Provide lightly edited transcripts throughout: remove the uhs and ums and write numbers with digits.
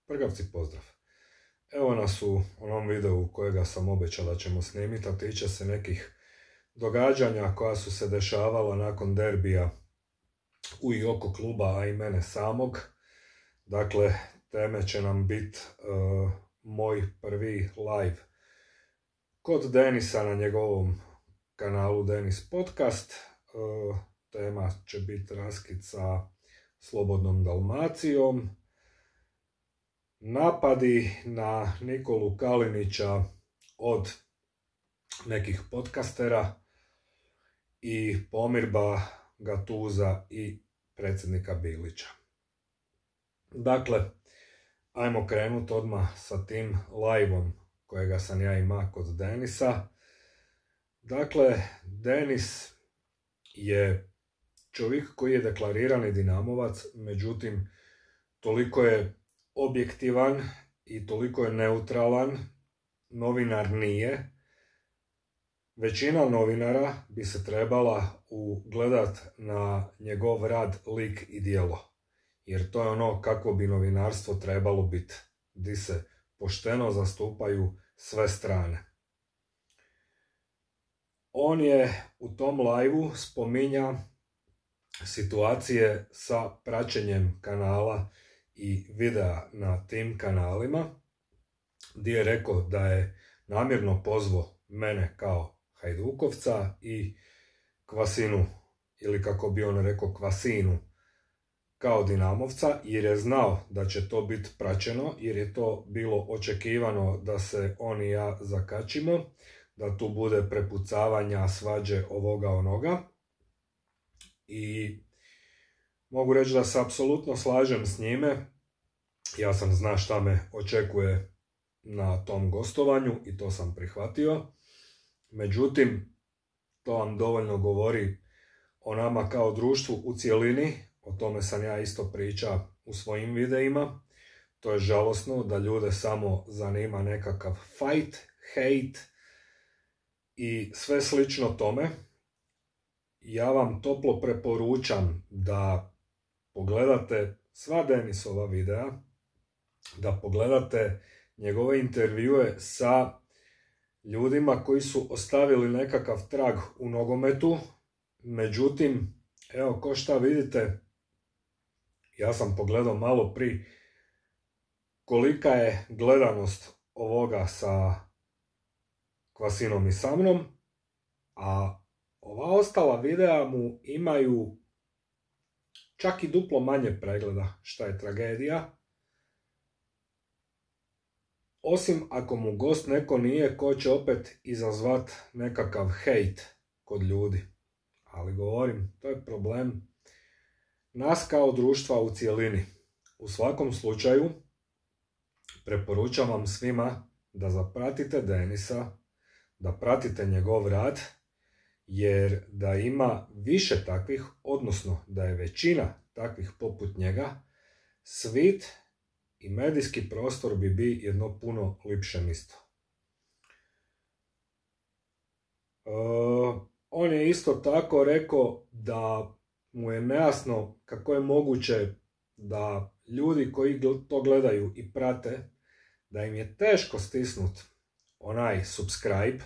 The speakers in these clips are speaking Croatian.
Prgavci, pozdrav. Evo nas u onom videu kojega sam obećao da ćemo snimiti, a tiče se nekih događanja koja su se dešavala nakon derbija u i oko kluba, a i mene samog. Dakle, teme će nam biti moj prvi live kod Denisa na njegovom kanalu Denis Podcast. Tema će biti raskid sa Slobodnom Dalmacijom, napadi na Nikolu Kalinića od nekih podcastera i pomirba Gatuza i predsjednika Bilića. Dakle, ajmo krenuti odmah sa tim live-om kojega sam ja imao kod Denisa. Dakle, Denis je čovjek koji je deklarirani Dinamovac, međutim, toliko je objektivan i toliko je neutralan, novinar nije. Većina novinara bi se trebala ugledat na njegov rad, lik i djelo. Jer to je ono kako bi novinarstvo trebalo biti, gdje se pošteno zastupaju sve strane. On je u tom live-u spominja situacije sa praćenjem kanala i videa na tim kanalima, gdje je rekao da je namjerno pozvao mene kao Hajdukovca i Kvasinu, ili kako bi on rekao Kvasinu, kao Dinamovca, jer je znao da će to biti praćeno, jer je to bilo očekivano da se on i ja zakačimo, da tu bude prepucavanja, svađe, ovoga onoga. I mogu reći da se apsolutno slažem s njime. Ja sam znao šta me očekuje na tom gostovanju i to sam prihvatio. Međutim, to vam dovoljno govori o nama kao društvu u cjelini. O tome sam ja isto pričao u svojim videima. To je žalosno da ljude samo zanima nekakav fight, hate i sve slično tome. Ja vam toplo preporučam da pogledate sva Denisova videa, da pogledate njegove intervjue sa ljudima koji su ostavili nekakav trag u nogometu. Međutim, evo ko šta vidite, ja sam pogledao malo prije kolika je gledanost ovoga sa Kvasinom i sa mnom, a ova ostala videa mu imaju čak i duplo manje pregleda, šta je tragedija. Osim ako mu gost neko nije ko će opet izazvat nekakav hejt kod ljudi. Ali govorim, to je problem nas kao društva u cjelini. U svakom slučaju, preporučam vam svima da zapratite Denisa, da pratite njegov rad, jer da ima više takvih, odnosno da je većina takvih poput njega, svit i medijski prostor bi bio jedno puno lipše mjesto. On je isto tako rekao da mu je nejasno kako je moguće da ljudi koji to gledaju i prate, da im je teško stisnut onaj subscribe,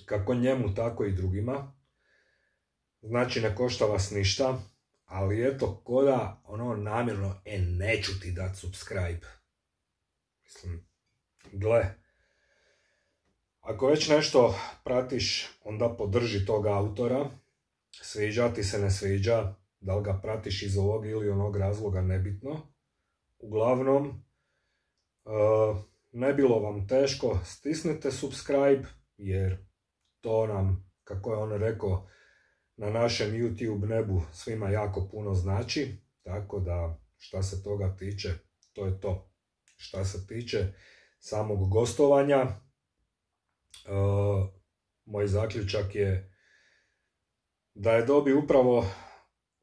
kako njemu tako i drugima. Znači ne košta vas ništa, ali eto koda ono namjerno neću ti dat subscribe. Mislim, gle, ako već nešto pratiš, onda podrži tog autora. Sviđa ti se, ne sviđa, da li ga pratiš iz ovog ili onog razloga, nebitno. Uglavnom, ne bilo vam teško, stisnite subscribe, jer to nam, kako je on rekao, na našem YouTube nebu svima jako puno znači. Tako da, šta se toga tiče, to je to. Šta se tiče samog gostovanja, moj zaključak je da je dobio upravo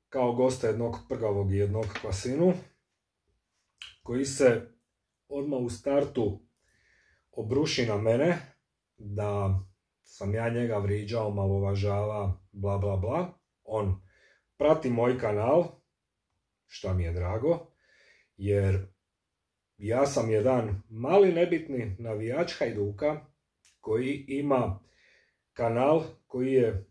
kao gosta jednog Prgavog i jednog Kvasinu, koji se odmah u startu obruši na mene, da sam ja njega vriđao, malovažava, bla bla bla. on prati moj kanal, što mi je drago, jer ja sam jedan mali nebitni navijač Hajduka koji ima kanal koji je,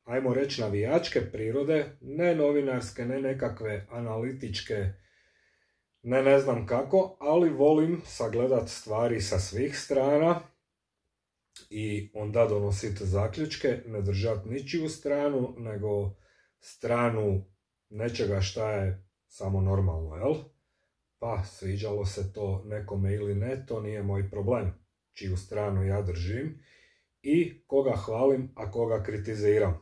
ajmo reći, navijačke prirode, ne novinarske, ne nekakve analitičke, ne znam kako, ali volim sagledat stvari sa svih strana i onda donositi zaključke, ne držati ničiju stranu, nego stranu nečega šta je samo normalno, jel? Pa sviđalo se to nekome ili ne, to nije moj problem, čiju stranu ja držim i koga hvalim, a koga kritiziram.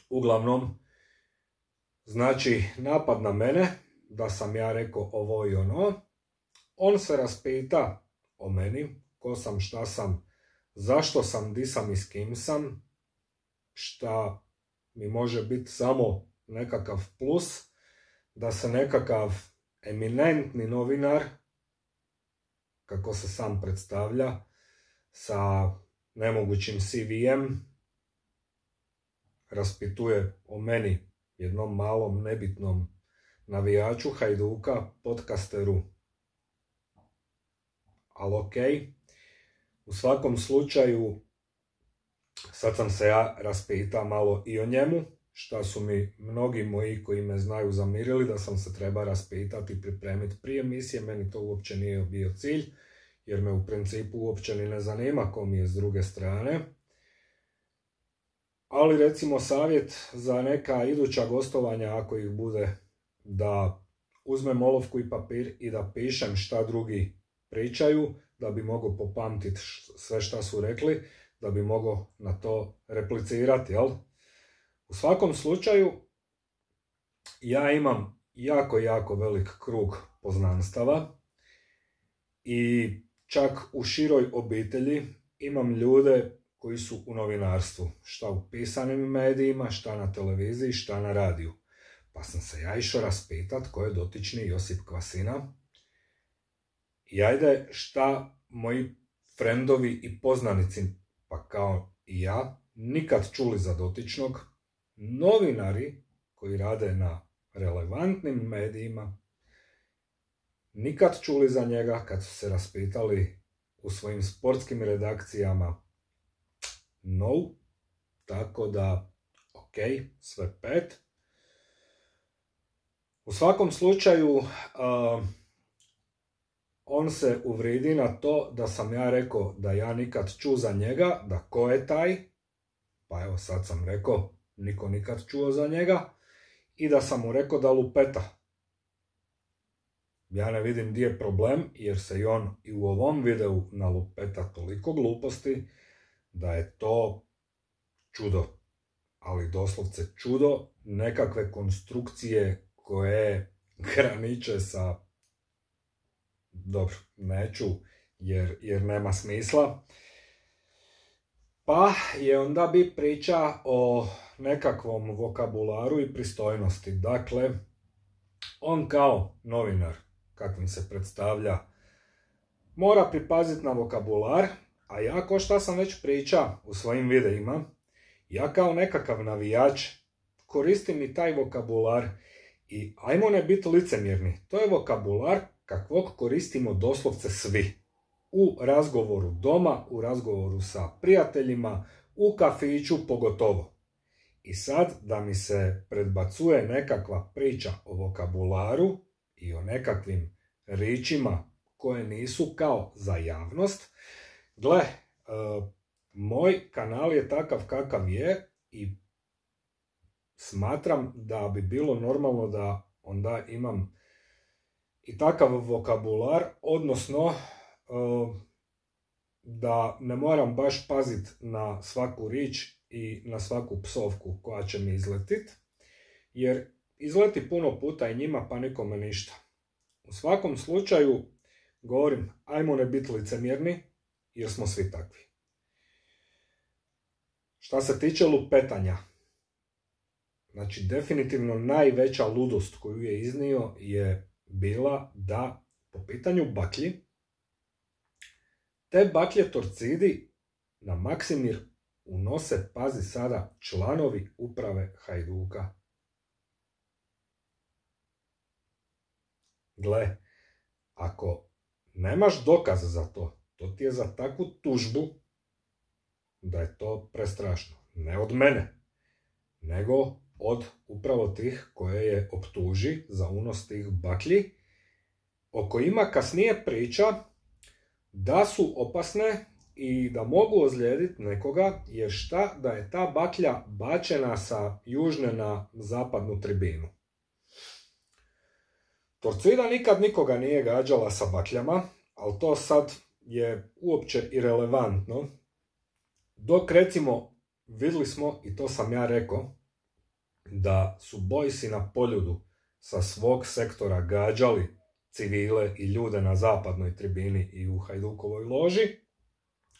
Uglavnom, znači napad na mene, da sam ja rekao ovo i ono, on se raspita o meni, ko sam, šta sam, zašto sam, di sam i s kim sam, šta mi može biti samo nekakav plus, da se nekakav eminentni novinar, kako se sam predstavlja, sa nemogućim CV-em, raspituje o meni, jednom malom nebitnom navijaču Hajduka, podcasteru. Ali okej. U svakom slučaju, sad sam se ja raspitao malo i o njemu, šta su mi mnogi moji koji me znaju zamirili, da sam se treba raspitati i pripremiti prije emisije. Meni to uopće nije bio cilj, jer me u principu uopće ni ne zanima ko mi je s druge strane. Ali recimo savjet za neka iduća gostovanja, ako ih bude, da uzmem olovku i papir i da pišem šta drugi pričaju, da bi mogao popamtiti sve šta su rekli, da bi mogao na to replicirati, jel? U svakom slučaju, ja imam jako velik krug poznanstava i čak u široj obitelji imam ljude koji su u novinarstvu, šta u pisanim medijima, šta na televiziji, šta na radiju. Pa sam se ja išao raspitat ko je dotični Josip Kvasina. I ajde, šta moji frendovi i poznanici, pa kao i ja, nikad čuli za dotičnog, novinari koji rade na relevantnim medijima, nikad čuli za njega kad su se raspitali u svojim sportskim redakcijama. No, tako da, ok, sve 5. U svakom slučaju, on se uvridi na to da sam ja rekao da ja nikad čuo za njega, da ko je taj, pa evo sad sam rekao, niko nikad čuo za njega, i da sam mu rekao da lupeta. Ja ne vidim gdje je problem, jer se i on i u ovom videu nalupeta toliko gluposti, da je to čudo, ali doslovce čudo, nekakve konstrukcije koje graniče sa, dobro, neću, jer nema smisla. Pa je onda bi priča o nekakvom vokabularu i pristojnosti. Dakle, on kao novinar, kakvim se predstavlja, mora pripaziti na vokabular, a ja, ko šta sam već pričao u svojim videima, ja kao nekakav navijač koristim i taj vokabular i ajmo ne biti licemjerni. To je vokabular kakvog koristimo doslovce svi. U razgovoru doma, u razgovoru sa prijateljima, u kafiću pogotovo. I sad da mi se predbacuje nekakva priča o vokabularu i o nekakvim ričima koje nisu kao za javnost, gle, moj kanal je takav kakav je i smatram da bi bilo normalno da onda imam i takav vokabular, odnosno da ne moram baš paziti na svaku rič i na svaku psovku koja će mi izletit, jer izleti puno puta i njima, pa nikome ništa. U svakom slučaju, govorim, ajmo ne biti licemjerni, jer smo svi takvi. Šta se tiče lupetanja, znači definitivno najveća ludost koju je iznio je bila da po pitanju baklji, te baklje Torcidi na Maksimir unose, pazi sada, članovi uprave Hajduka. Gle, ako nemaš dokaz za to, to ti je za takvu tužbu da je to prestrašno. Ne od mene, nego od upravo tih koje je optuži za unos tih baklji, o kojima kasnije priča da su opasne i da mogu ozlijediti nekoga, jer šta da je ta baklja bačena sa južne na zapadnu tribinu. Torcida nikad nikoga nije gađala sa bakljama, ali to sad je uopće irelevantno. Dok recimo vidjeli smo, i to sam ja rekao, da su Boysi na Poljudu sa svog sektora gađali civile i ljude na zapadnoj tribini i u Hajdukovoj loži,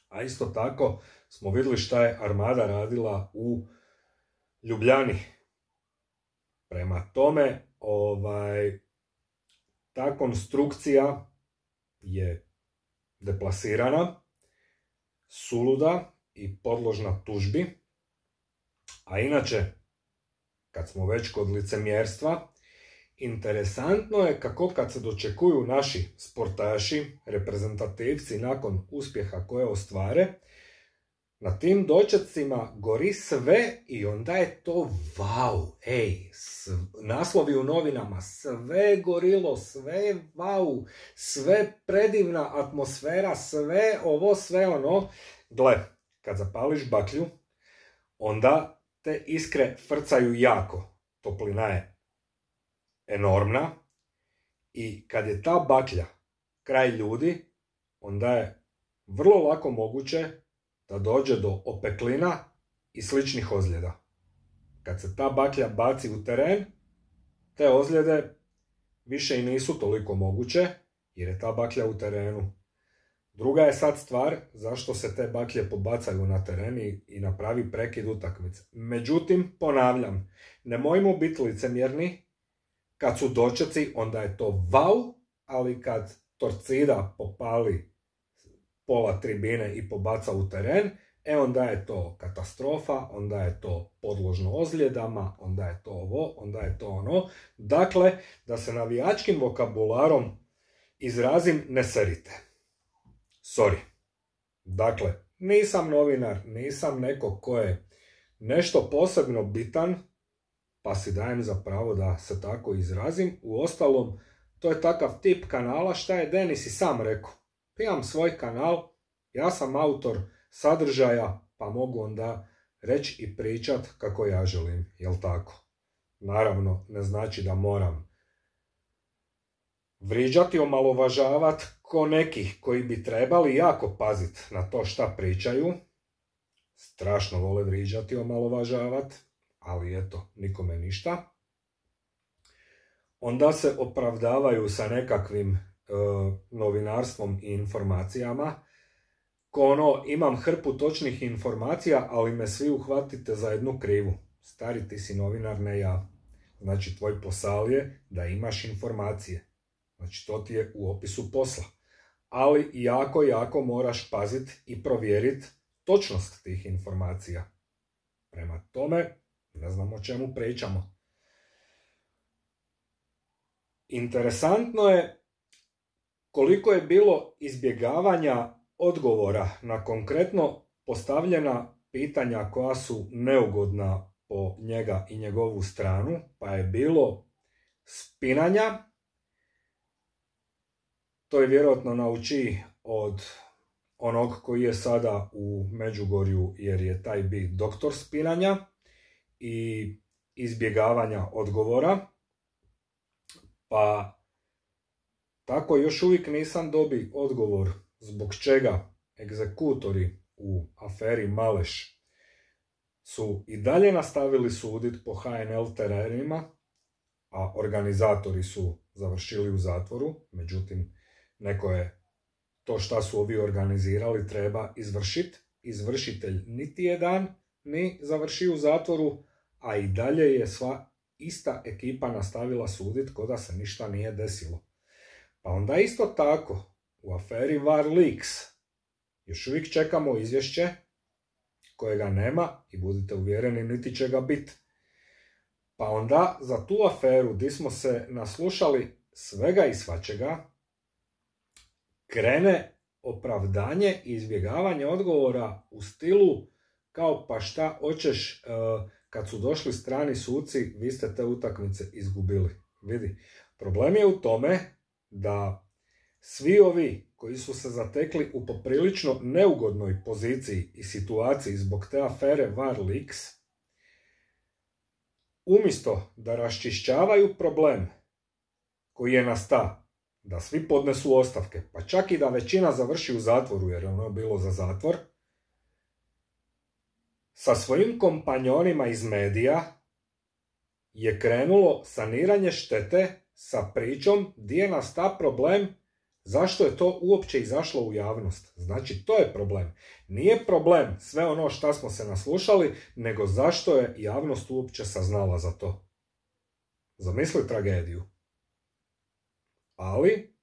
a isto tako smo vidjeli šta je Armada radila u Ljubljani. Prema tome, ta konstrukcija je deplasirana, suluda i podložna tužbi. A inače, kad smo već kod licemjerstva, interesantno je kako kad se dočekuju naši sportaši, reprezentativci nakon uspjeha koje ostvare, na tim dočecima gori sve i onda je to wow, naslovi u novinama, sve gorilo, sve wow, sve predivna atmosfera, sve ovo, sve ono. Gle, kad zapališ baklju, onda te iskre frcaju jako, toplina je enormna i kad je ta baklja kraj ljudi, onda je vrlo lako moguće da dođe do opeklina i sličnih ozljeda. Kad se ta baklja baci u teren, te ozljede više i nisu toliko moguće, jer je ta baklja u terenu. Druga je sad stvar zašto se te baklje pobacaju na teren i napravi prekid utakmice. Međutim, ponavljam, nemojmo biti licemjerni, kad su dočeci, onda je to wow, ali kad Torcida popali pola tribine i pobaca u teren, onda je to katastrofa, onda je to podložno ozljedama, onda je to ovo, onda je to ono. Dakle, da se navijačkim vokabularom izrazim, ne serite. Sorry. Dakle, nisam novinar, nisam neko ko je nešto posebno bitan, pa si dajem za pravo da se tako izrazim. Uostalom, to je takav tip kanala, šta je Denis i sam rekao. Imam svoj kanal, ja sam autor sadržaja, pa mogu onda reći i pričat kako ja želim, jel tako? Naravno, ne znači da moram vriđati, omalovažavati ko nekih koji bi trebali jako paziti na to šta pričaju. Strašno vole vriđati, omalovažavati, ali eto, nikome ništa. Onda se opravdavaju sa nekakvim novinarstvom i informacijama. Ko ono, imam hrpu točnih informacija, ali me svi uhvatite za jednu krivu. Stari, ti si novinar, ne ja. Znači, tvoj posao je da imaš informacije. Znači, to ti je u opisu posla. Ali jako moraš paziti i provjeriti točnost tih informacija. Prema tome, ne znam o čemu pričamo. Interesantno je koliko je bilo izbjegavanja odgovora na konkretno postavljena pitanja koja su neugodna po njega i njegovu stranu, pa je bilo spinanja. To je vjerojatno nauči od onog koji je sada u Međugorju, jer je taj bi doktor spinanja i izbjegavanja odgovora. Pa tako još uvijek nisam dobio odgovor zbog čega egzekutori u aferi Maleš su i dalje nastavili suditi po HNL terenima, a organizatori su završili u zatvoru. Međutim, neko je to šta su ovi organizirali treba izvršiti. Izvršitelj niti jedan ni završio u zatvoru, a i dalje je sva ista ekipa nastavila suditi ko da se ništa nije desilo. Pa onda isto tako, u aferi War Leaks još uvijek čekamo izvješće kojega nema i budite uvjereni niti će ga biti. Pa onda za tu aferu gdje smo se naslušali svega i svačega, krene opravdanje i izbjegavanje odgovora u stilu kao pa šta hoćeš, kad su došli strani suci, vi ste te utakmice izgubili. Vidi, problem je u tome da svi ovi koji su se zatekli u poprilično neugodnoj poziciji i situaciji zbog te afere VAR Leaks, umjesto da raščišćavaju problem koji je nastao, da svi podnesu ostavke, pa čak i da većina završi u zatvoru, jer ono je bilo za zatvor, sa svojim kompanjonima iz medija je krenulo saniranje štete sa pričom gdje je nastao problem, zašto je to uopće izašlo u javnost. Znači, to je problem. Nije problem sve ono što smo se naslušali, nego zašto je javnost uopće saznala za to. Zamisli tragediju. Ali,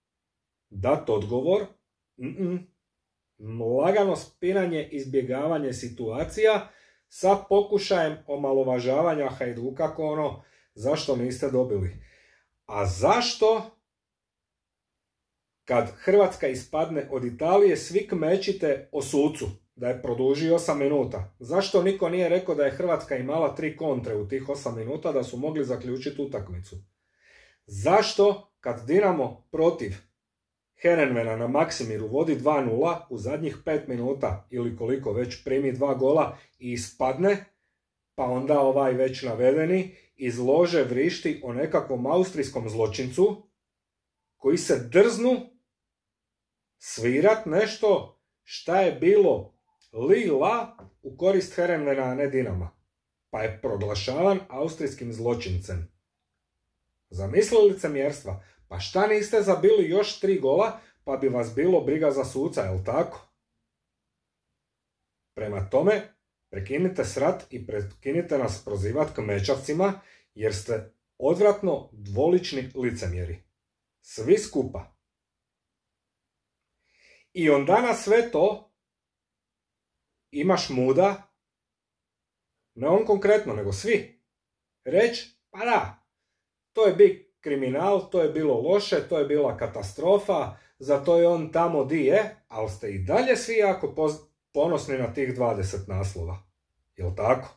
dat odgovor, lagano spinanje, izbjegavanje situacija sa pokušajem omalovažavanja Hajduka kao ono, zašto niste dobili. A zašto kad Hrvatska ispadne od Italije svi kmećite o sucu da je produžio 8 minuta? Zašto niko nije rekao da je Hrvatska imala 3 kontre u tih 8 minuta da su mogli zaključiti utakmicu? Zašto kad Dinamo protiv Herenvena na Maksimiru vodi 2-0 u zadnjih 5 minuta ili koliko već primi 2 gola i ispadne, pa onda ovaj već navedeni izlože vrišti o nekakvom austrijskom zločincu koji se drznu svirat nešto šta je bilo li-la u korist Herenvena, a ne Dinama, pa je proglašavan austrijskim zločincem. Zamislili licemjerstva? Pa šta niste zabili još 3 gola, pa bi vas bilo briga za suca, jel tako? Prema tome, prekinite srat i prekinite nas prozivat kmečavcima, jer ste odvratno dvolični licemjeri. Svi skupa. I onda na sve to imaš muda, ne on konkretno, nego svi, reći, pa da, to je big kriminal, to je bilo loše, to je bila katastrofa, zato je on tamo di je, ali ste i dalje svi jako ponosni na tih 20 naslova. Jel tako?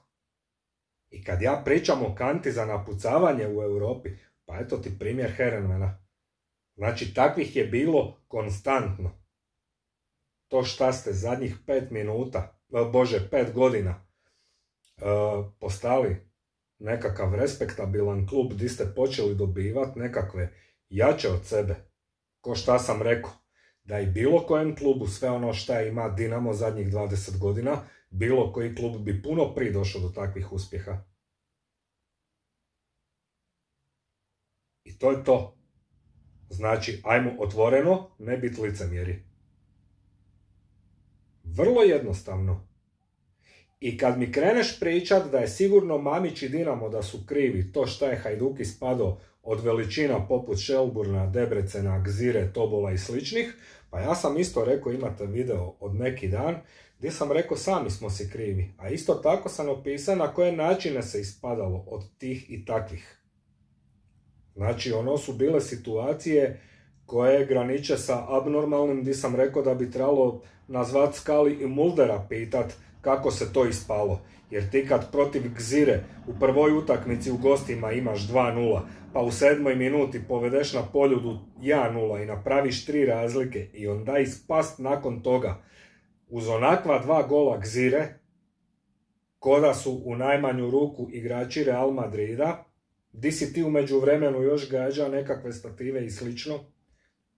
I kad ja pričam o kanti za napucavanje u Europi, pa eto ti primjer Herenvena. Znači, takvih je bilo konstantno. To šta ste zadnjih 5 godina postali nekakav respektabilan klub gdje ste počeli dobivati nekakve jače od sebe. Ko šta sam rekao, da i bilo kojem klubu sve ono šta ima Dinamo zadnjih 20 godina, bilo koji klub bi puno prije došao do takvih uspjeha. I to je to. Znači, ajmo otvoreno, ne biti licemjeri. Vrlo jednostavno. I kad mi kreneš pričat da je sigurno Mamić i Dinamo da su krivi to šta je Hajduk ispadao od veličina poput Shelburna, Debrecena, Gzire, Tobola i sličnih, pa ja sam isto rekao, imate video od neki dan, gdje sam rekao sami smo si krivi. A isto tako sam opisao na koje načine se ispadalo od tih i takvih. Znači, ono su bile situacije koje graniče sa abnormalnim, gdje sam rekao da bi trebalo nazvat Skali i Muldera pitat kako se to ispalo. Jer ti kad protiv Gzire u prvoj utakmici u gostima imaš 2-0, pa u 7. minuti povedeš na Poljudu 1-0 i napraviš 3 razlike i onda ispast nakon toga uz onakva 2 gola Gzire, koda su u najmanju ruku igrači Real Madrida, di si ti u međuvremenu još gađa nekakve stative i slično.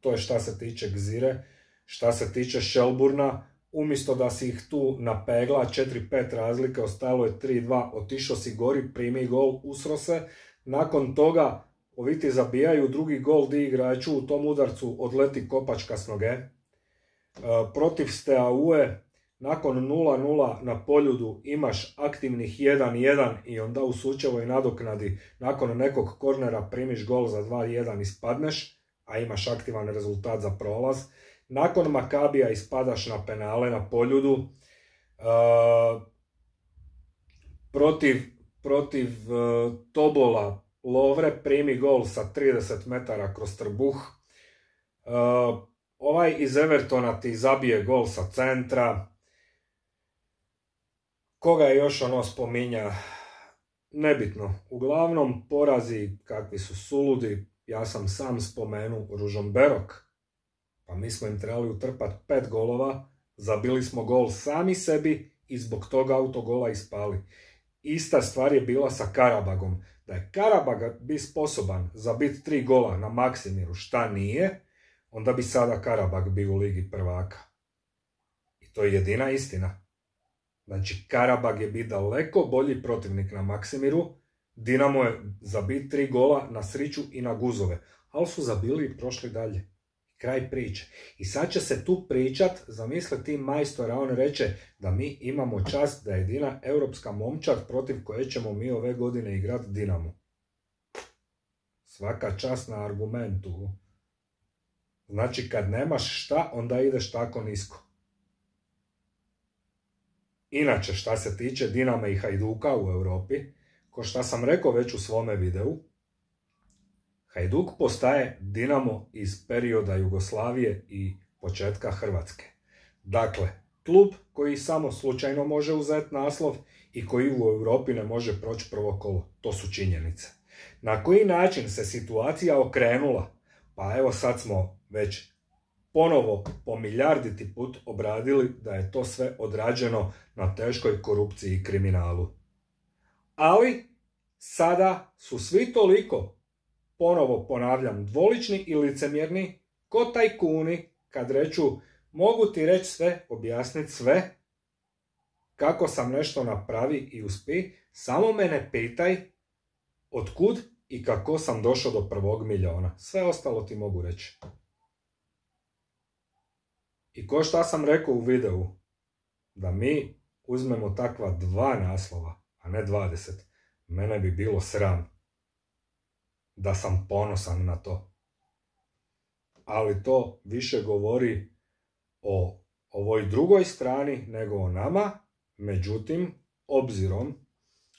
To je šta se tiče Gzire. Šta se tiče Shelburna, umjesto da si ih tu napegla 4-5 razlike, ostalo je 3-2, otišao si gori, primi gol, usro se. Nakon toga ovi ti zabijaju drugi gol di igraču u tom udarcu odleti kopačka s noge. Protiv Steaue, nakon 0-0 na Poljudu imaš aktivnih 1-1 i onda u sučevoj nadoknadi nakon nekog kornera primiš gol za 2-1 i spadneš, a imaš aktivan rezultat za prolaz. Nakon Makabija ispadaš na penale na Poljudu. protiv Tobola Lovre primi gol sa 30 metara kroz trbuh. Ovaj iz Evertona ti zabije gol sa centra. Koga je još ono spominja? Nebitno. Uglavnom porazi kakvi su suludi. Ja sam sam spomenuo Ružomberok. Pa mi smo im trebali utrpati 5 golova. Zabili smo gol sami sebi i zbog toga autogola ispali. Ista stvar je bila sa Karabagom. Da je Karabag bi sposoban zabiti 3 gola na Maksimiru, šta nije, onda bi sada Karabag bio u Ligi prvaka. I to je jedina istina. Znači, Karabag je bio daleko bolji protivnik na Maksimiru, Dinamo je zabiti 3 gola na Sriću i na Guzove, ali su zabili i prošli dalje. Kraj priče. I sad će se tu pričat, zamisli ti majstora, on reče da mi imamo čast da je jedina europska momčad protiv koje ćemo mi ove godine igrati Dinamo. Svaka čast na argumentu. Znači kad nemaš šta, onda ideš tako nisko. Inače, šta se tiče Dinama i Hajduka u Europi, ko šta sam rekao već u svome videu, Hajduk postaje Dinamo iz perioda Jugoslavije i početka Hrvatske. Dakle, klub koji samo slučajno može uzeti naslov i koji u Europi ne može proći prvo kolo. To su činjenice. Na koji način se situacija okrenula? Pa evo sad smo već ponovo po milijarditi put obradili da je to sve odrađeno na teškoj korupciji i kriminalu. Ali sada su svi toliko, ponovo ponavljam, dvolični i licemjerni ko tajkuni kad reču mogu ti reći sve, objasniti sve, kako sam nešto napravi i uspi, samo mene pitaj otkud i kako sam došao do 1 milijuna. Sve ostalo ti mogu reći. I ko šta sam rekao u videu, da mi uzmemo takva 2 naslova, a ne 20, mene bi bilo sram da sam ponosan na to. Ali to više govori o ovoj drugoj strani nego o nama. Međutim, obzirom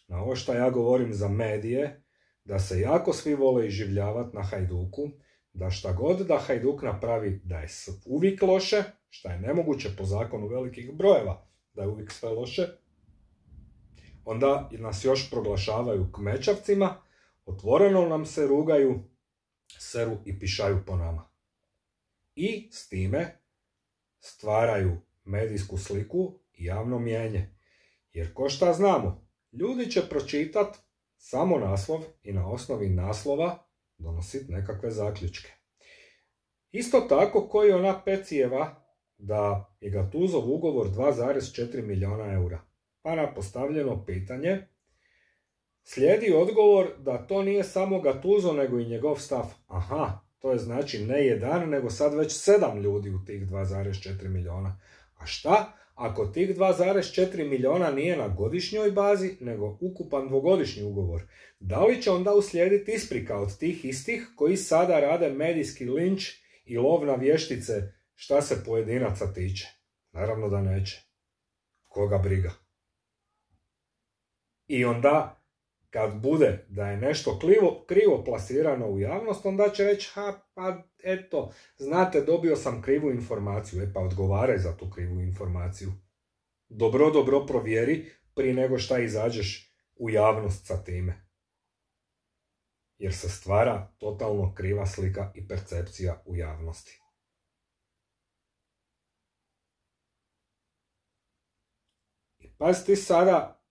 na ovo što ja govorim za medije, da se jako svi vole iživljavati na Hajduku, da šta god da Hajduk napravi da je uvijek loše, šta je nemoguće po zakonu velikih brojeva, da je uvijek sve loše, onda nas još proglašavaju kmečavcima, otvoreno nam se rugaju, seru i pišaju po nama. I s time stvaraju medijsku sliku i javno mnijenje. Jer ko šta znamo, ljudi će pročitat samo naslov i na osnovi naslova donositi nekakve zaključke. Isto tako koji ona Pecijeva da je Gatuzov ugovor 2,4 milijuna eura. Pa na postavljeno pitanje slijedi odgovor da to nije samo Gattuso nego i njegov stav. Aha, to je znači ne 1 nego sad već 7 ljudi u tih 2,4 milijuna. A šta ako tih 2,4 milijuna nije na godišnjoj bazi nego ukupan 2-godišnji ugovor? Da li će onda uslijediti isprika od tih istih koji sada rade medijski linč i lov na vještice šta se pojedinaca tiče? Naravno da neće. Koga briga. I onda kad bude da je nešto krivo plasirano u javnost, onda će reći, pa eto, znate, dobio sam krivu informaciju, pa odgovaraj za tu krivu informaciju. Dobro provjeri prije nego šta izađeš u javnost sa time. Jer se stvara totalno kriva slika i percepcija u javnosti. I pazite sada,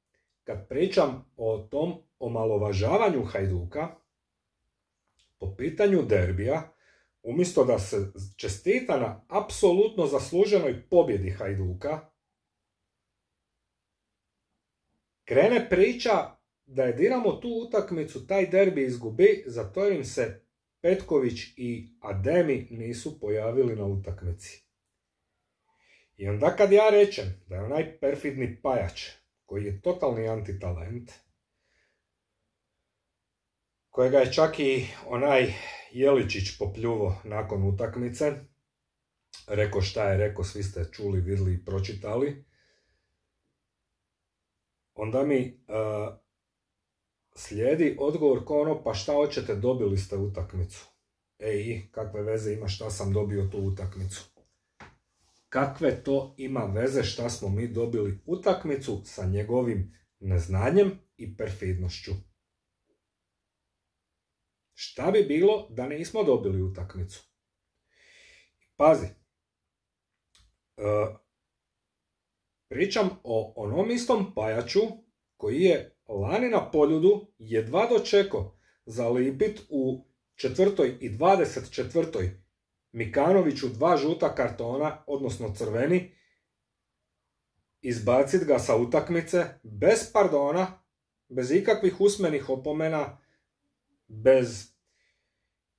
kad pričam o tom omalovažavanju Hajduka, po pitanju derbija, umjesto da se čestita na apsolutno zasluženoj pobjedi Hajduka, krene priča da je Dinamo tu utakmicu, taj derbi izgubi, zato jer im se Petković i Ademi nisu pojavili na utakmici. I onda kad ja rečem da je onaj perfidni pajač, koji je totalni antitalent, kojega je čak i onaj Jeličić popljuvo nakon utakmice, rekao šta je rekao, svi ste čuli, vidjeli i pročitali, onda mi slijedi odgovor kao ono, pa šta hoćete, dobili ste utakmicu. Kakve veze ima šta sam dobio tu utakmicu? Kakve to ima veze šta smo mi dobili utakmicu sa njegovim neznanjem i perfidnošću? Šta bi bilo da nismo dobili utakmicu? Pazi, pričam o onom istom pajaču koji je lani na Poljudu jedva dočekao zalipit u 4. i 24. Mikanoviću 2 žuta kartona, odnosno crveni, izbacit ga sa utakmice bez pardona, bez ikakvih usmenih opomena, bez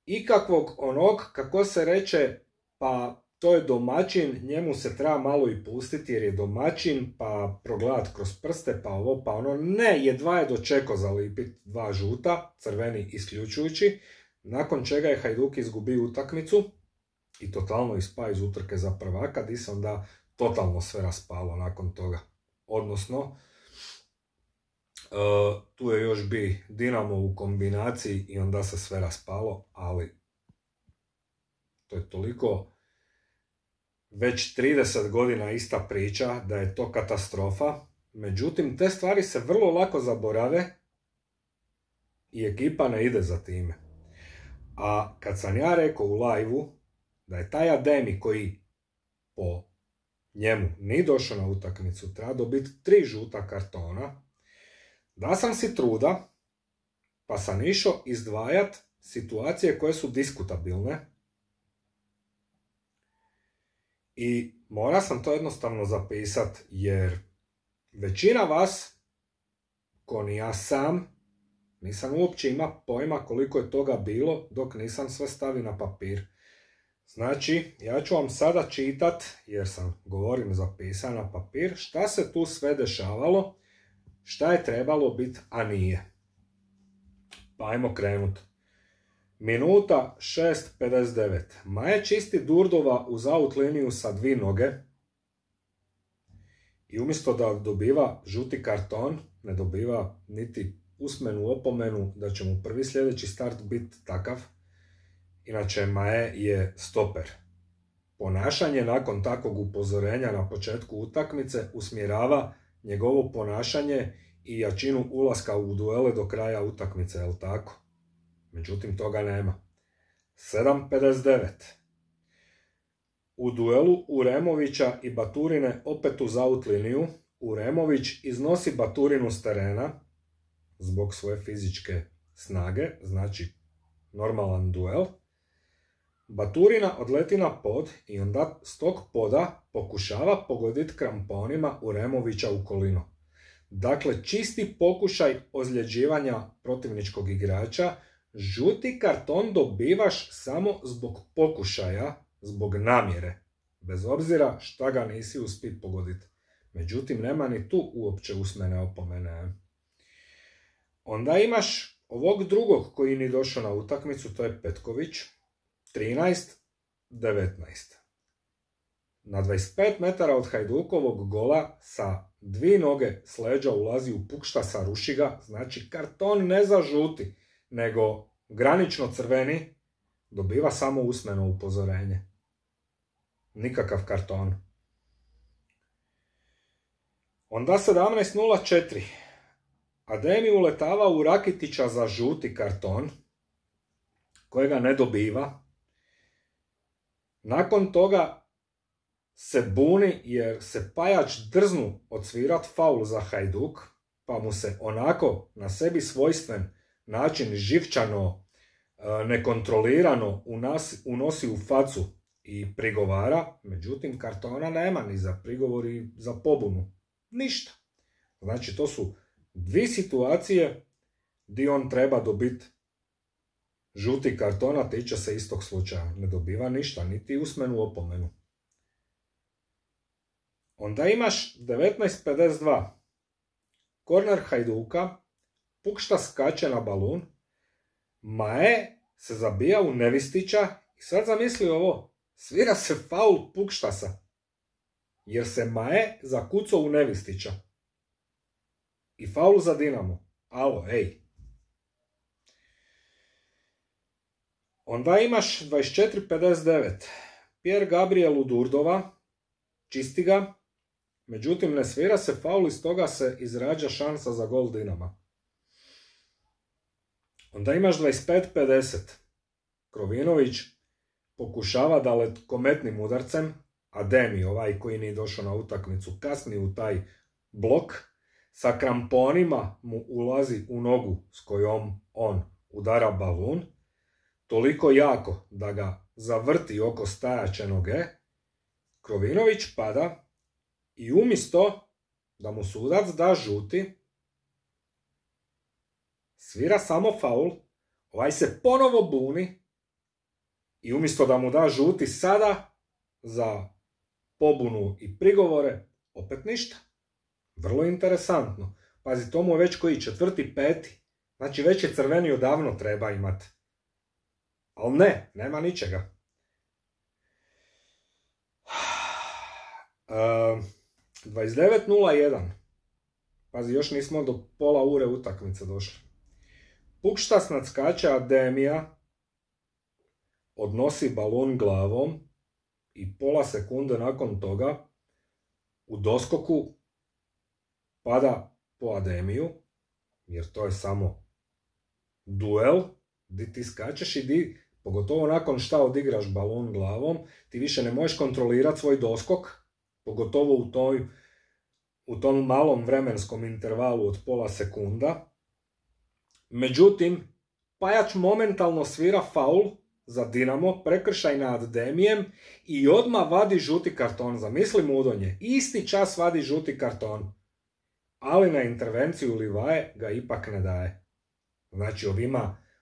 ikakvog onog, kako se reče, pa to je domaćin, njemu se treba malo i pustiti jer je domaćin, pa progledat kroz prste, pa ovo, pa ono. Ne, jedva je dočekao zalipit 2 žuta, crveni isključujući, nakon čega je Hajduk izgubio utakmicu i totalno ispa iz utrke za prvaka, di se onda totalno sve raspalo nakon toga. Odnosno, tu je još bi Dinamo u kombinaciji i onda se sve raspalo, ali to je toliko već 30 godina ista priča da je to katastrofa. Međutim, te stvari se vrlo lako zaborave i ekipa ne ide za time. A kad sam ja rekao u live-u da je taj Ademi koji po njemu nije došao na utakmicu, treba dobiti 3 žuta kartona, da sam si truda, pa sam išao izdvajat situacije koje su diskutabilne i mora sam to jednostavno zapisat, jer većina vas, ko ni ja sam, nisam uopće ima pojma koliko je toga bilo dok nisam sve stavio na papir. Znači, ja ću vam sada čitat, jer sam govorim zapisan na papir, šta se tu sve dešavalo, šta je trebalo biti, a nije. Pa ajmo krenut. Minuta 6:59. Maje čisti Durdova uz out liniju sa 2 noge i umjesto da dobiva žuti karton, ne dobiva niti usmenu opomenu da će mu prvi sljedeći start biti takav. Inače, Maje je stoper. Ponašanje nakon takvog upozorenja na početku utakmice usmjerava njegovo ponašanje i jačinu ulaska u duele do kraja utakmice, jel tako? Međutim, toga nema. 7:59. U duelu Uremovića i Baturine opet uz out liniju, Uremović iznosi Baturinu s terena zbog svoje fizičke snage, znači normalan duel. Baturina odleti na pod i onda s tog poda pokušava pogoditi kramponima Uremovića u kolino. Dakle, čisti pokušaj ozljeđivanja protivničkog igrača. Žuti karton dobivaš samo zbog pokušaja, zbog namjere, bez obzira šta ga nisi uspio pogoditi. Međutim, nema ni tu uopće usmene opomene. Onda imaš ovog drugog koji ni došao na utakmicu, to je Petković, 13:19. Na 25 metara od Hajdukovog gola sa 2 noge s leđa ulazi u Pukštasa, ruši ga, znači karton ne za žuti, nego granično crveni, dobiva samo usmeno upozorenje. Nikakav karton. Onda 17:04. Ademi uletava u Rakitića za žuti karton, kojega ne dobiva. Nakon toga se buni jer se Pajač drznu odsvirat faul za Hajduk, pa mu se onako na sebi svojstven način živčano, nekontrolirano unosi u facu i prigovara. Međutim, kartona nema ni za prigovor i za pobunu. Ništa. Znači, to su 2 situacije gdje on treba dobiti žuti kartona, tiče se istog slučaja. Ne dobiva ništa, niti usmenu opomenu. Onda imaš 19:52. Korner Hajduka, Pukšta skače na balun, Maje se zabija u Nevistića i sad zamisli ovo, svira se faul Pukštasa, jer se Maje zakucao u Nevistića. I faul za Dinamo. Alo, ej. Onda imaš 24:59. Pierre Gabriel u Durdova. Čisti ga. Međutim, ne svira se faul i stoga se izrađa šansa za gol Dinama. Onda imaš 25:50. Krovinović pokušava dalekometnim udarcem, a Demi, ovaj koji nije došao na utakmicu, kasni u taj blok, sa kramponima mu ulazi u nogu s kojom on udara balun, toliko jako da ga zavrti oko stajaće noge. Krovinović pada i umjesto da mu sudac da žuti, svira samo faul, ovaj se ponovo buni i umjesto da mu da žuti sada za pobunu i prigovore, opet ništa. Vrlo interesantno. Pazi, to mu je već koji 4., 5. Znači već je crveni odavno treba imati. Ali ne, nema ničega. 29:01. Pazi, još nismo do pola ure utakmice došli. Pukštas nadskače Ademija, odnosi balon glavom i pola sekunde nakon toga u doskoku pada po Ademiju, jer to je samo duel, di ti skačeš i pogotovo nakon šta odigraš balon glavom, ti više ne možeš kontrolirati svoj doskok, pogotovo u tom malom vremenskom intervalu od pola sekunda. Međutim, Pajač momentalno svira faul za Dinamo, prekršaj nad Demijem i odmah vadi žuti karton. Zamisli Mudonje, isti čas vadi žuti karton. Ali na intervenciju Livaje ga ipak ne daje. Znači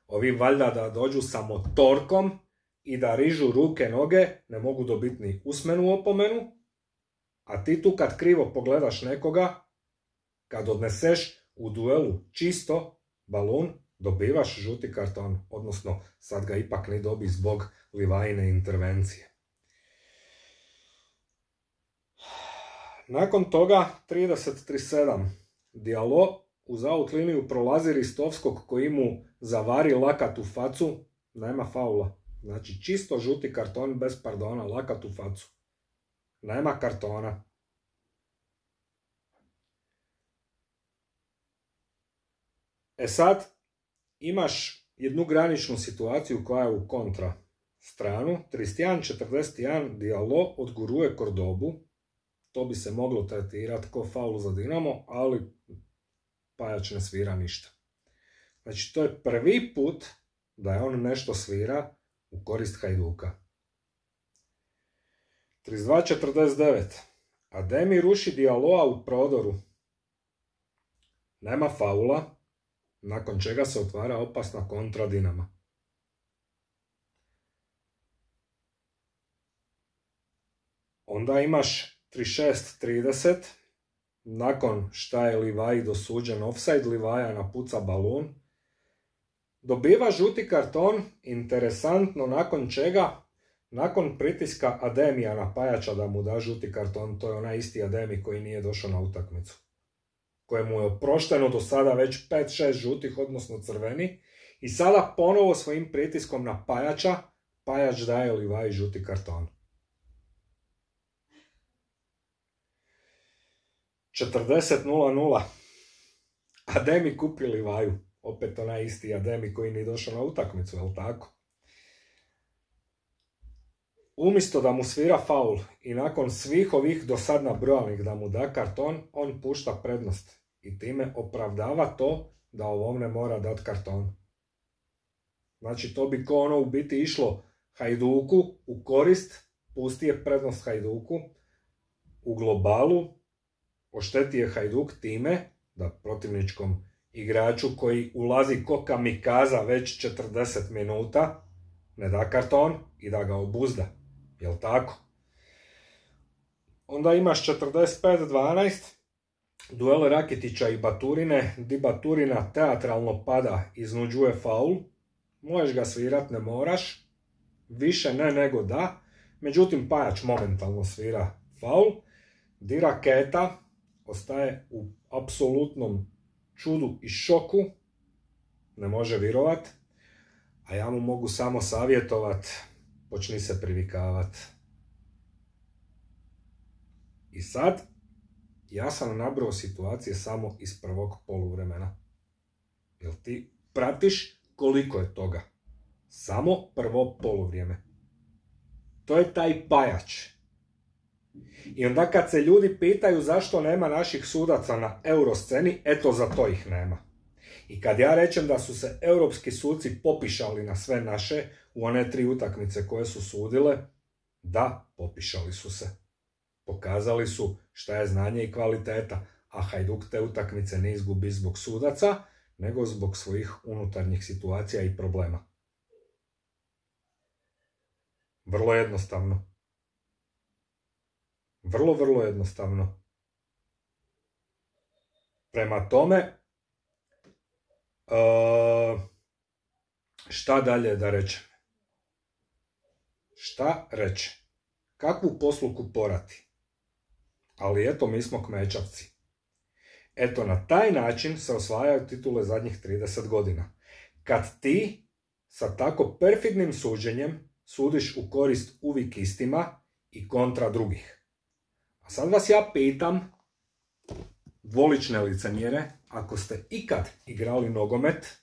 ovi valjda da dođu sa motorkom i da rižu ruke, noge, ne mogu dobiti ni usmenu opomenu, a ti tu kad krivo pogledaš nekoga, kad odneseš u duelu čisto balun, dobivaš žuti karton, odnosno sad ga ipak ne dobi zbog Livajine intervencije. Nakon toga 30:37. Diallo uz out liniju prolazi Ristovskog koji mu zavari lakat u facu, nema faula. Znači čisto žuti karton bez pardona, lakat u facu. Nema kartona. E sad, imaš jednu graničnu situaciju koja je u kontra stranu. 31:41 Diallo odguruje Kordobu. To bi se moglo tretirati kao faul za Dinamo, ali Pajač ne svira ništa. Znači, to je prvi put da je on nešto svira u korist Hajduka. 32:49. Ademi ruši Dialloa u prodoru. Nema faula, nakon čega se otvara opasna kontra Dinama. Onda imaš 36:30. Nakon šta je Livaji dosuđen offside, Livaja napuca balun. Dobiva žuti karton, interesantno nakon čega, nakon pritiska Ademija na Pajača da mu da žuti karton, to je onaj isti Ademi koji nije došao na utakmicu, kojemu je oprošteno do sada već 5-6 žutih, odnosno crveni, i sada ponovo svojim pritiskom na Pajača, Pajač daje Livaji žuti karton. 40:00. Ademi kupi Livaju. Opet onaj isti Ademi koji nije došao na utakmicu, jel tako? Umjesto da mu svira faul i nakon svih ovih do sad nabrojanih da mu da karton, on pušta prednost i time opravdava to da ovom ne mora dati karton. Znači to bi ko ono u biti išlo Hajduku u korist, pusti je prednost Hajduku, u globalu ošteti je Hajduk time da protivničkom igraču koji ulazi ko kamikaza već 40 minuta ne da karton i da ga obuzda. Jel' tako? Onda imaš 45:12. Duel Rakitića i Baturine, di Baturina teatralno pada, iznuđuje faul. Možeš ga svirat, ne moraš. Više ne nego da. Međutim, Pajač momentalno svira faul. Di Raketa ostaje u apsolutnom čudu i šoku, ne može virovat, a ja mu mogu samo savjetovat, počni se privikavat. I sad, ja sam nabrao situacije samo iz prvog poluvremena. Jel ti pratiš koliko je toga? Samo prvo poluvrijeme. To je taj pajač. I onda kad se ljudi pitaju zašto nema naših sudaca na eurosceni, eto za to ih nema. I kad ja rečem da su se europski suci popišali na sve naše u one 3 utakmice koje su sudile, da, popišali su se. Pokazali su šta je znanje i kvaliteta, a Hajduk te utakmice ne izgubi zbog sudaca, nego zbog svojih unutarnjih situacija i problema. Vrlo jednostavno. Vrlo jednostavno. Prema tome, šta dalje da rečem? Šta reći? Kakvu posluku porati? Ali eto, mi smo kmečavci. Eto, na taj način se osvajaju titule zadnjih 30 godina. Kad ti sa tako perfidnim suđenjem sudiš u korist uvijek istima i kontra drugih. A sad vas ja pitam, dvolične licemjere, ako ste ikad igrali nogomet,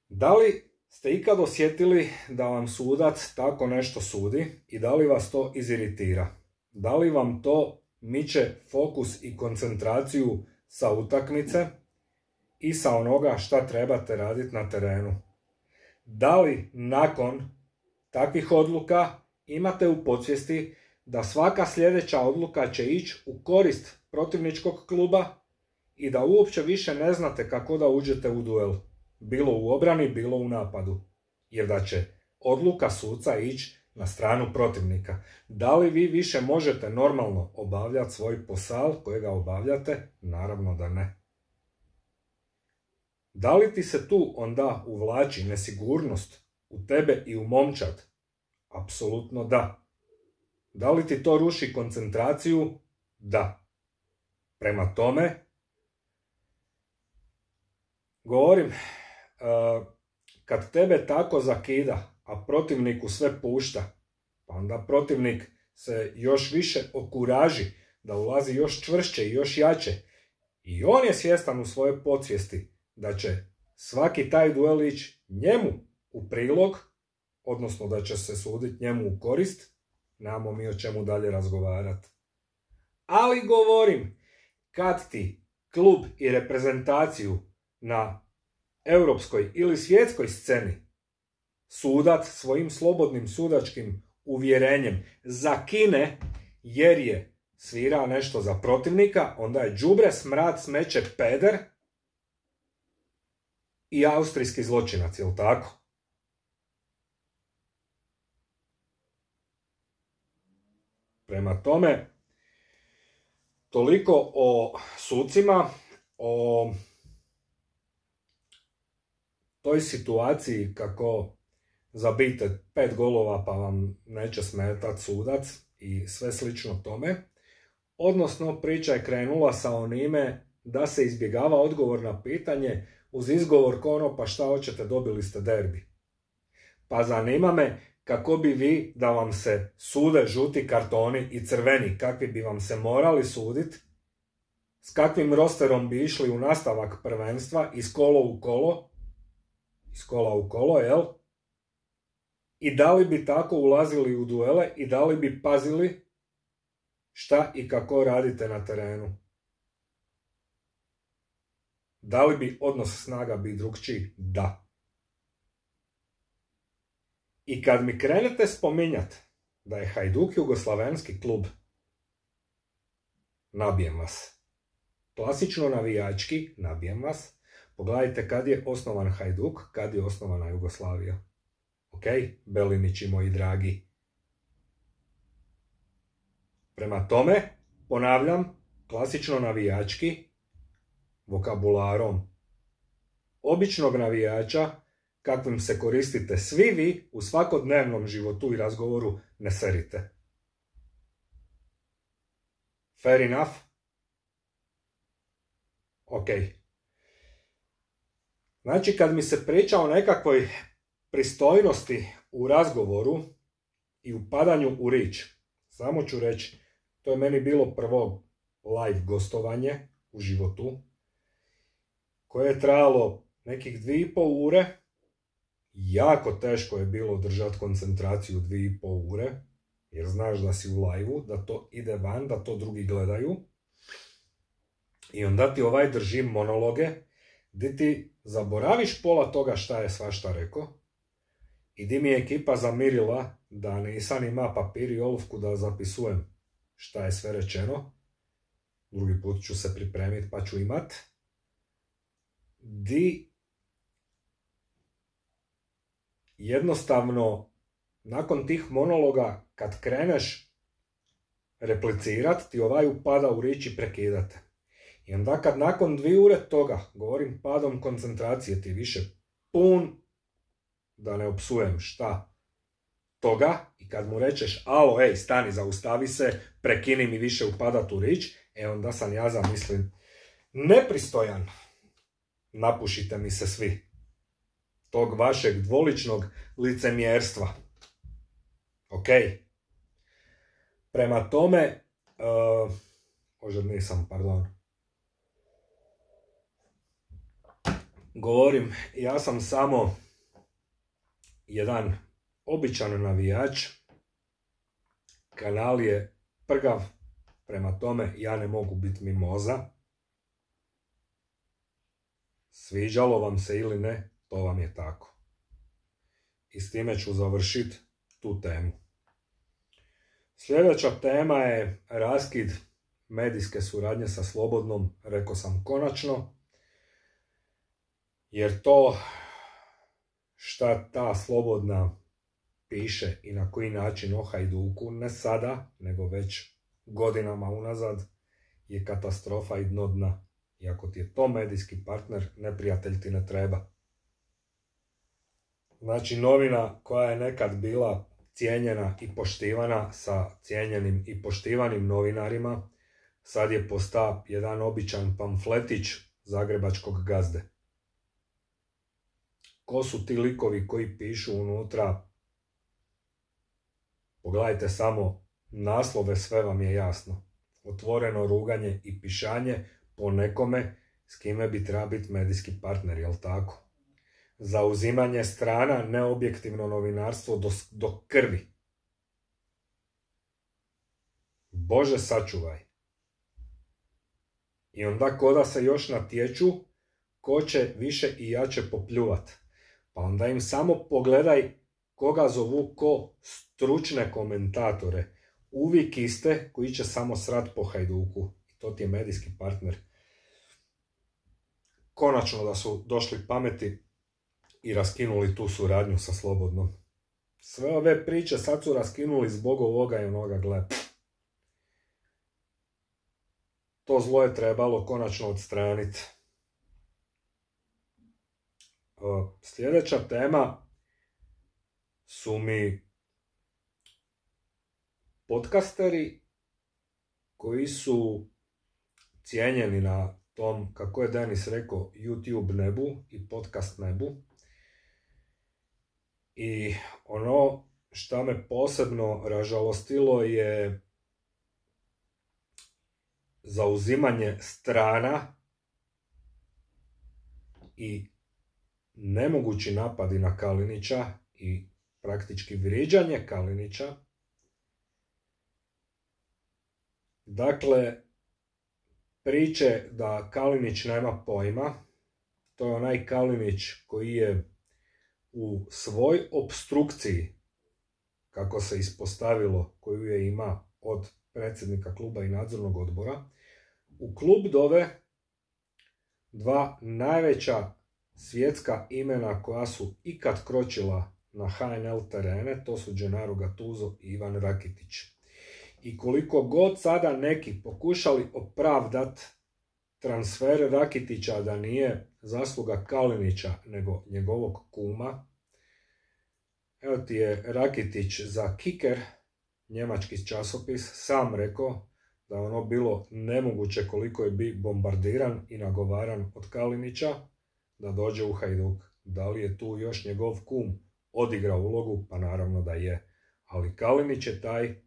da li ste ikad osjetili da vam sudac tako nešto sudi i da li vas to iziritira? Da li vam to miče fokus i koncentraciju sa utakmice i sa onoga šta trebate raditi na terenu? Da li nakon takvih odluka imate u podsvijesti da svaka sljedeća odluka će ići u korist protivničkog kluba i da uopće više ne znate kako da uđete u duel, bilo u obrani, bilo u napadu, jer da će odluka suca ići na stranu protivnika. Da li vi više možete normalno obavljati svoj posao kojega obavljate? Naravno da ne. Da li ti se tu onda uvlači nesigurnost u tebe i u momčad? Apsolutno da. Da li ti to ruši koncentraciju? Da. Prema tome, govorim, kad tebe tako zakida, a protivniku sve pušta, pa onda protivnik se još više okuraži da ulazi još čvršće i još jače. I on je svjestan u svojoj podsvijesti da će svaki taj duel ići njemu u prilog, odnosno da će se suditi njemu u korist, nemamo mi o čemu dalje razgovarati. Ali govorim, kad ti klub i reprezentaciju na europskoj ili svjetskoj sceni sudac svojim slobodnim sudačkim uvjerenjem zakine jer je svirao nešto za protivnika, onda je đubre, smrad, smeće, peder i austrijski zločinac, jel tako? Prema tome, toliko o sucima, o toj situaciji kako zabijete 5 golova pa vam neće smetati sudac i sve slično tome. Odnosno, priča je krenula sa onime da se izbjegava odgovor na pitanje uz izgovor kono pa šta hoćete, dobili ste derbi. Pa zanima me kako bi vi da vam se sude žuti kartoni i crveni, kakvi bi vam se morali suditi, s kakvim rosterom bi išli u nastavak prvenstva iz kola u kolo, jel? I da li bi tako ulazili u duele i da li bi pazili šta i kako radite na terenu? Da li bi odnos snaga bio drukčiji? Da. I kad mi krenete spominjati da je Hajduk jugoslavenski klub, nabijem vas. Klasično navijački, nabijem vas. Pogledajte kad je osnovan Hajduk, kad je osnovana Jugoslavija. Ok, Belinići moji dragi. Prema tome, ponavljam, klasično navijački, vokabularom običnog navijača, kakvim se koristite svi vi u svakodnevnom životu i razgovoru, ne serite. Fair enough? Ok. Znači, kad mi se priča o nekakvoj pristojnosti u razgovoru i upadanju u rič, samo ću reći, to je meni bilo prvo live gostovanje u životu, koje je trajalo nekih 2,5 ure. Jako teško je bilo držati koncentraciju 2,5 ure, jer znaš da si u live-u, da to ide van, da to drugi gledaju. I onda ti drži monologe, gdje ti zaboraviš pola toga šta je svašta rekao, i di mi je ekipa zamirila da nisam ima papir i olovku da zapisujem šta je sve rečeno. Drugi put ću se pripremiti pa ću imat. Di jednostavno nakon tih monologa kad kreneš replicirat, ti upada u riječ i prekidate. I onda kad nakon 2 ure toga, govorim padom koncentracije, ti više pun, da ne opsujem šta, toga, i kad mu rečeš alo, ej, stani, zaustavi se, prekini mi više upadat u riječ, onda sam ja zamislim nepristojan. Napušite mi se svi tog vašeg dvoličnog licemjerstva. Ok. Prema tome, govorim, ja sam samo jedan običan navijač, kanal je prgav, prema tome ja ne mogu biti mimoza. Sviđalo vam se ili ne, to vam je tako. I s time ću završiti tu temu. Sljedeća tema je raskid medijske suradnje sa Slobodnom, rekao sam konačno, jer to šta ta Slobodna piše i na koji način o Hajduku, ne sada, nego već godinama unazad, je katastrofa i dno dna. I ako ti je to medijski partner, neprijatelj ti ne treba. Znači, novina koja je nekad bila cijenjena i poštivana sa cijenjenim i poštivanim novinarima, sad je postao jedan običan pamfletić zagrebačkog gazde. Ko su ti likovi koji pišu unutra? Pogledajte samo naslove, sve vam je jasno. Otvoreno ruganje i pišanje po nekome s kime bi treba biti medijski partner, jel tako? Zauzimanje strana, neobjektivno novinarstvo do krvi. Bože sačuvaj. I onda koda se još natječu, ko će više i jače popljuvat. Pa onda im samo pogledaj koga zovu ko stručne komentatore. Uvijek iste koji će samo srat po Hajduku. I to ti je medijski partner. Konačno da su došli pameti i raskinuli tu suradnju sa Slobodnom. Sve ove priče sad su raskinuli zbog ovoga i onoga, gle. To zlo je trebalo konačno odstraniti. Sljedeća tema su mi podcasteri koji su cijenjeni na tom, kako je Denis rekao, YouTube nebu i podcast nebu. I ono što me posebno ražalostilo je zauzimanje strana i nemogući napadi na Kalinića i praktički vrijeđanje Kalinića. Dakle, priče da Kalinić nema pojma, to je onaj Kalinić koji je u svoj opstrukciji, kako se ispostavilo, koju je ima od predsjednika kluba i nadzornog odbora, u klub dove 2 najveća svjetska imena koja su ikad kročila na HNL terene, to su Gennaro Gattuso i Ivan Rakitić. I koliko god sada neki pokušali opravdat transfer Rakitića da nije zasluga Kalinića, nego njegovog kuma, evo ti je Rakitić za Kicker, njemački časopis, sam rekao da je ono bilo nemoguće koliko je bombardiran i nagovaran od Kalinića da dođe u Hajduk. Da li je tu još njegov kum odigrao ulogu? Pa naravno da je. Ali Kalinić je taj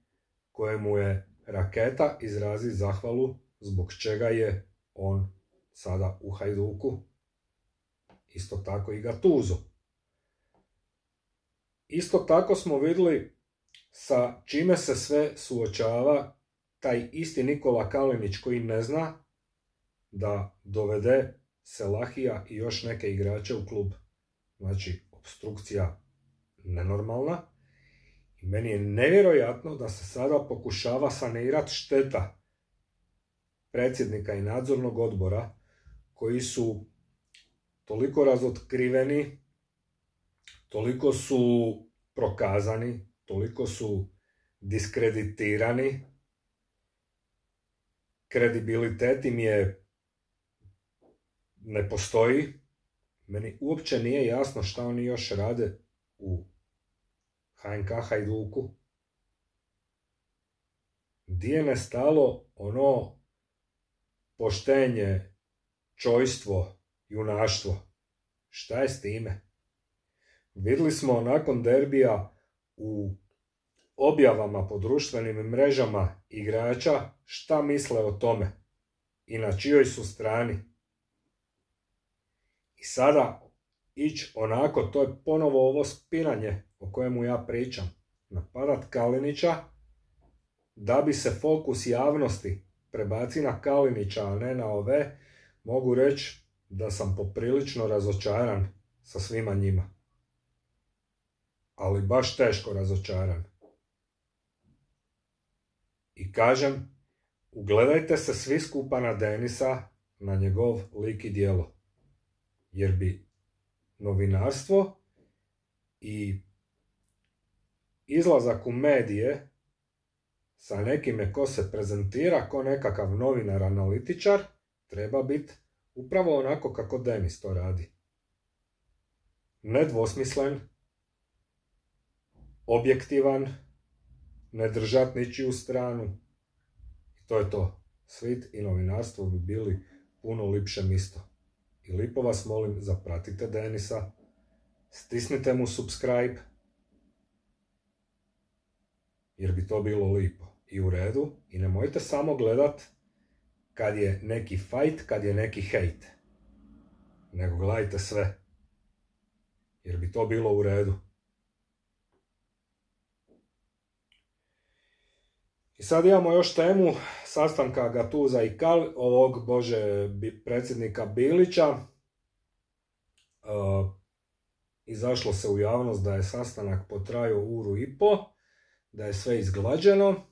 kojemu je Raketa izrazi zahvalu zbog čega je on sada u Hajduku. Isto tako i Gattuso. Isto tako smo vidjeli sa čime se sve suočava taj isti Nikola Kalinić koji ne zna da dovede Selahija i još neke igrače u klub. Znači, opstrukcija nenormalna. I meni je nevjerojatno da se sada pokušava sanirati šteta predsjednika i nadzornog odbora koji su toliko razotkriveni, toliko su prokazani, toliko su diskreditirani, kredibilitet im je ne postoji. Meni uopće nije jasno šta oni još rade u HNK Hajduku. Di je nestalo ono poštenje, čojstvo, junaštvo? Šta je s time? Vidjeli smo nakon derbija u objavama po društvenim mrežama igrača šta misle o tome i na čijoj su strani. I sada ići onako, to je ponovo ovo spinanje o kojemu ja pričam. Napadat Kalinića da bi se fokus javnosti prebaci na Kalinića, a ne na ove, mogu reći da sam poprilično razočaran sa svima njima. Ali baš teško razočaran. I kažem, ugledajte se svi skupa na Denisa, na njegov lik i djelo. Jer bi novinarstvo i izlazak u medije sa nekime ko se prezentira ko nekakav novinar analitičar treba biti upravo onako kako Denis to radi. Nedvosmislen, objektivan, ne držat ničiju stranu. I to je to. Svit i novinarstvo bi bili puno lipše misto. I lipo vas molim, zapratite Denisa, stisnite mu subscribe, jer bi to bilo lipo i u redu. I nemojte samo gledat kad je neki fight, kad je neki hejt. Nego gledajte sve, jer bi to bilo u redu. I sad imamo još temu sastanka Gattusa i predsjednika Bilića. Izašlo se u javnost da je sastanak potrajao 1,5 ure, da je sve izglađeno.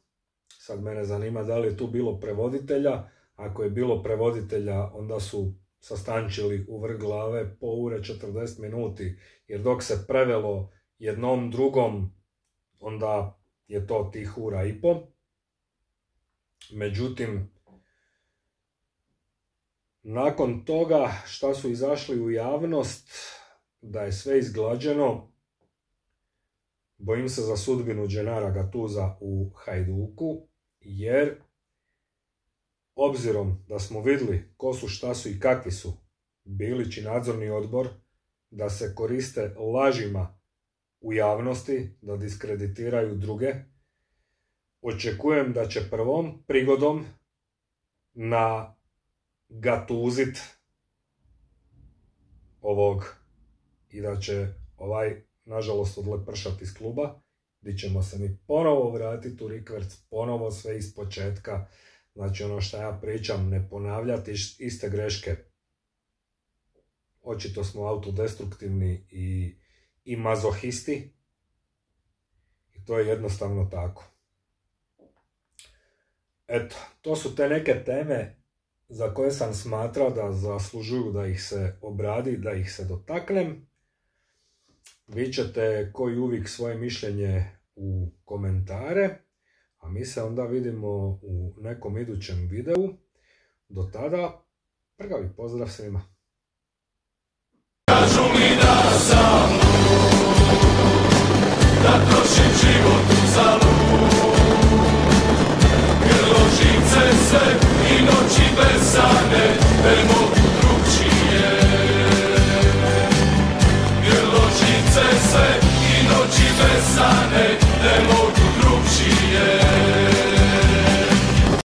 Sad mene zanima da li je tu bilo prevoditelja. Ako je bilo prevoditelja, onda su sastančili u vrh glave po ure 40 minuti, jer dok se prevelo jednom drugom, onda je to tih 1,5 ura. Međutim, nakon toga šta su izašli u javnost, da je sve izglađeno, bojim se za sudbinu Gennara Gattusa u Hajduku, jer obzirom da smo vidjeli ko su, šta su i kakvi su Bilić i nadzorni odbor, da se koriste lažima u javnosti, da diskreditiraju druge, očekujem da će prvom prigodom nagatuzit ovog i da će nažalost odlepršati iz kluba, gdje ćemo se mi ponovo vratiti u rikverc, ponovo sve iz početka. Znači ono što ja pričam, ne ponavljati iste greške. Očito smo autodestruktivni i mazohisti i to je jednostavno tako. Eto, to su te neke teme za koje sam smatrao da zaslužuju da ih se obradi, da ih se dotaknem. Vi ćete koji uvijek svoje mišljenje u komentare, a mi se onda vidimo u nekom idućem videu. Do tada, prgavi pozdrav svima. Kažu mi da sam da trošim život za lud, grlo živce ne mogu drugčije. Jer ložice se i noći besane ne mogu